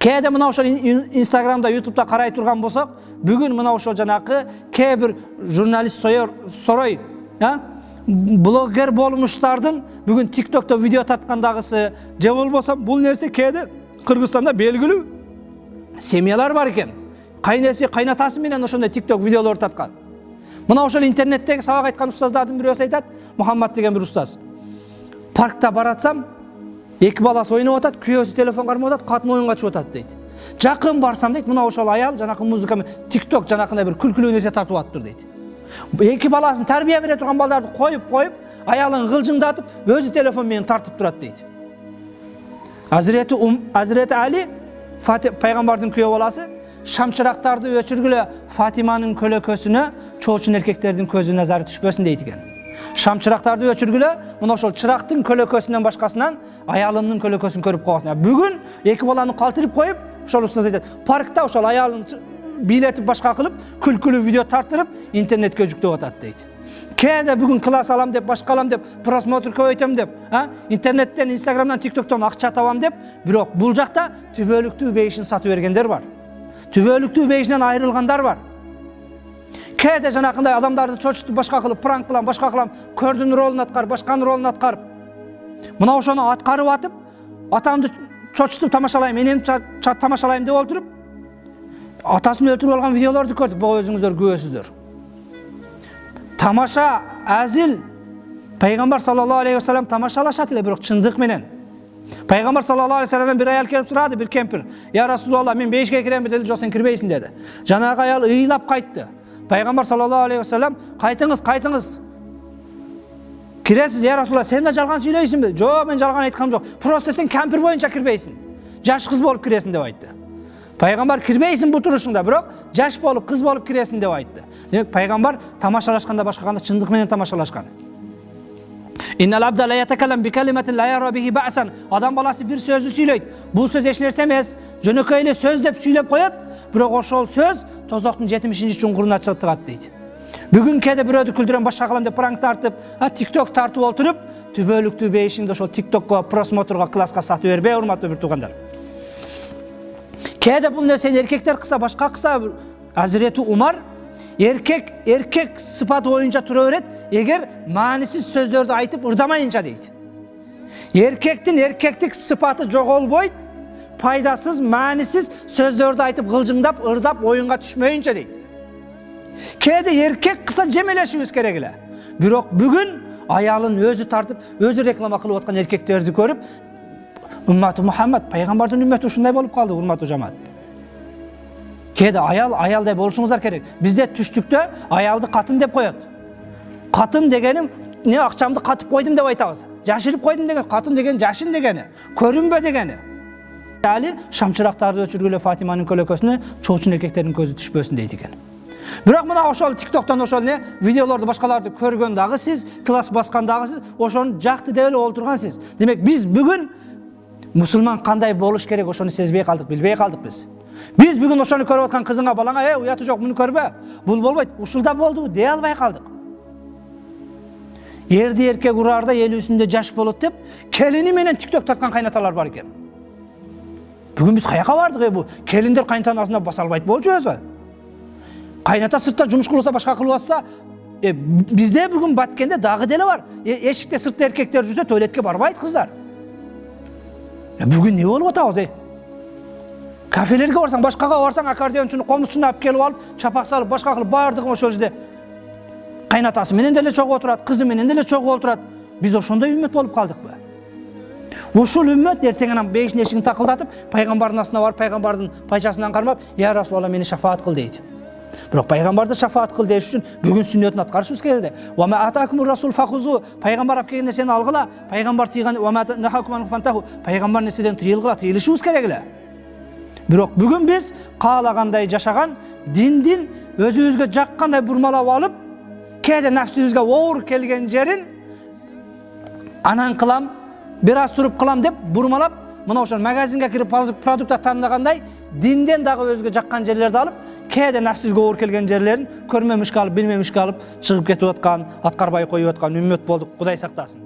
Кээде мына ошол Инстаграмда, Ютубта карай турган болсок, бүгүн мына ошол жанакы кээ бир журналист сорой, блогер болмуштардын бүгүн TikTokто видео тарткандагысы, же болбосо бул нерсе кээде Кыргызстанда белгилүү семьялар бар экен. Кайнеси, кайнатасы менен ошондой TikTok видеолор тарткан. Мына ошол интернеттеги сабак айткан устаздардын бирөөсү айтат, Мухаммад деген бир устаз. Паркта баратсам, эки баласы ойноп атат, күйөөсү телефон кармап атат, катын оюнга чыгып атат дейт. Жакын барсам дейт, мына ошол аял жанакы музыка менен TikTok жанакындай бир күлкүлүү нерсе тартып атыптыр дейт. Эки баласын тарбия бере турган балдарды коюп, аялын гылжыңдатып, өзү телефон менен тартып турат дейт. Азирети Али, пайгамбардын күйөө баласы, шамчырактарды өчүргүлө Фатиманын көлөкөсүнө чоочун эркектердин көзү назары түшпөсүн дейт экен. Шамчырактарды өчүргүлө, мына ошол чырактын көлөкөсүнөн башкасынан аялымдын көлөкөсүн көрүп каласың. Бүгүн эки баланы калтырып коюп, ошол устаз айтат, паркта ошол аялын бийлетип башка кылып, күлкүлүү видео тартырып, интернетке жүктөп атат дейт. Кээде бүгүн класс алам деп, башка алам деп, просмотр көбөйтөм деп, интернеттен, Инстаграмдан, TikToктон акча табам деп, бирок бул жакта түбөлүктүү бейишин сатып бергендер бар. Түбөлүктүү бейишинен айрылгандар бар. Кээде жанакындай адамдарды чочутуп башка кылып, пранк кылам, башка кылам, көрдүн ролун аткарып, башканын ролун аткарып. Мына ошону аткарып атып, атамды чочутуп тамашалайм, энемди тамашалайм деп отуруп, атасын өлтүрүп алган видеолорду көрдүк, буга өзүңүздөр күбөсүздөр. Тамаша, азил, пайгамбар саллаллаху алейхи ва саллям тамашалашат эле, бирок чындык менен. Пайгамбар саллаллаху алейхи ва салламдан бир аял келип сурады, бир кемпир. Я Расулалла, мен бейишке киремби деди, жок, сен кирбейсиң деди. Жанагы аял ыйлап кайтты. Пайгамбар саллаллаху алейхи ва саллям, кайтыңыз. Киресиз, я Расулалла, сен да жалган сүйлөйсүңбү? Жок, мен жалган айткам жок. Просто сен кемпир боюнча кирбейсиң. Жаш кыз болуп киресиң деп айтты. Пайгамбар кирбейсиң бул турушуңда, бирок жаш болуп, кыз болуп киресиң деп айтты. Демек пайгамбар тамашалашканда башкаганда чындык менен тамашалашкан. Иннал абда ла ятакаллам би калиматин ла яра бихи бa'сан. Адам баласы бир сөздү сүйлөйт. Бул сөз эч нерсе эмес, жөнөкөй эле сөз деп сүйлөп коет, бирок ошол сөз тозоктун 70-чуңкуруна чыгып тыгат дейт. Бүгүн кээде бирөөдү күлдүрөм, башка кылам деп пранк тартып, TikTok тартып отуруп, түбөлүктүү бейишиңди ошол TikTokко, просмотрга, класска сатып бербей, урматтуу бир туугандар. Кээде бул нерсени эркектер кылса, башка кылса, Азирети Умар эркек сыпаты боюнча тура берет, эгер маанисиз сөздөрдү айтып ырдамайынча дейт. Эркектин эркектик сыпаты жоголбойт, пайдасыз, маанисиз сөздөрдү айтып гылжыңдап, ырдап, оюнга түшмөйүнчө дейт. Кээде эркек кылса жемелешибиз керек эле. Бирок бүгүн аялын өзү тартып, өзү реклама кылып аткан эркектерди көрүп, Умматы Мухаммад, пайгамбардын үммөтү ушундай болуп калды, урматтуу жамаат. Кээде аялдай болушуңуздар керек. Бизде түштүктө аялды катын деп коет. Катын дегеним, не акчамды катып койдум деп айтабыз. Жашырып койдум деген, катын деген жашын дегени, көрүнбө дегени. Али шамчырактарды өчүргүлө Фатиманын көлөкөсүнө чоочун эркектердин көзү түшпөсүн дейт экен. Бирок мына ошол TikToктон ошол видеолорду башкаларды көргөн дагы сиз, класс баскан дагы сиз, ошону жакты деп эле олтурган сиз. Демек биз бүгүн мусулман кандай болуш керек ошону сезбей калдык, билбей калдык биз. Биз бүгүн ошону көрүп аткан кызыңа, балаңа, уяты жок, муну көрбө. Бул болбойт, ушулда болду дей албай калдык. Эрди эркек ураарда 50-сүндө жаш болот деп, келини менен TikTok тарткан кайнаталар бар экен. Бүгүн биз каяка бардык, бу келиндер кайнатасына баса албайт болчу өзү. Кайната сыртта жумуш кылса, башка кылып атса, бизде бүгүн Баткенде дагы деле бар. Эшикте сыртта эркектер жүрсө, туалетке барбайт кыздар. Бүгүн не болуп атабыз? Кафелерге барсаң, башкага барсаң, аккордеончуну комузчуну алып келип алып, чапак салып, башка кылып, бардыгы ошол жерде кайнатасы менен деле чогуу отурат, кызы менен деле чогуу отурат. Биз ошондой үммөт болуп калдыкпы? Ушул үммөт эртең бейиштин эшигин такылдатып, пайгамбардын астына барып, пайгамбардын пайчасынан кармап, "Я Расулалла, мени шафаат кыл" дейт. Бирок пайгамбарды шафаат кыл деш үчүн бүгүн сүннөтүн аткарышыбыз керек. Ва ма атакумур расул фахузу, пайгамбар алып келген нерсени алгыла, пайгамбар тийген ва ма нахакуман фантаху, пайгамбар нерседен тыйылгыла, тыйылышыбыз керек эле. Бирок бүгүн биз каалагандай жашаган, диндин өзүбүзгө жаккандай бурмалап алып, кээде нафсибизге оор келген жерин анан кылам, бир аз туруп кылам деп бурмалап, мына ошол магазинге кирип продукт тандагандай, динден дагы өзгө жаккан жерлерди алып, кээде нафсибизге оор келген жерлерин көрмөмүшкө алып, билмемишке алып чыгып кетип аткан, аткарбай коюп аткан үммөт болдук. Кудай сактасын.